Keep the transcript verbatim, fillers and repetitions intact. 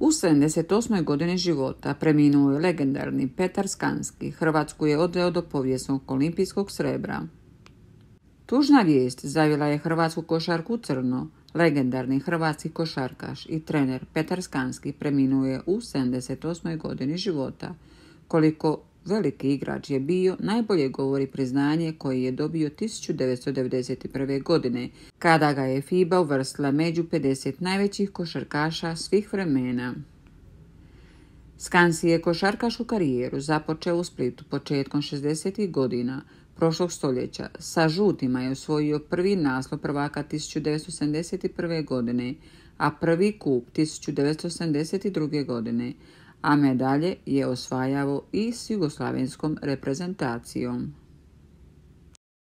U sedamdeset osmoj godini života preminuo je legendarni Petar Skanski, Hrvatsku je odveo do povijesnog olimpijskog srebra. Tužna vijest zavila je hrvatsku košarku u crno. Legendarni hrvatski košarkaš i trener Petar Skanski preminuo je u sedamdeset osmoj godini života. Koliko veliki igrač je bio, najbolje govori priznanje koje je dobio tisuću devetsto devedeset prve. godine, kada ga je FIBA uvrstila među pedeset najvećih košarkaša svih vremena. Skansi je košarkašku karijeru započeo u Splitu početkom šezdesetih godina prošlog stoljeća. Sa žutima je osvojio prvi naslov prvaka tisuću devetsto sedamdeset prve. godine, a prvi kup tisuću devetsto sedamdeset druge. godine, a medalje je osvajao i s jugoslavenskom reprezentacijom.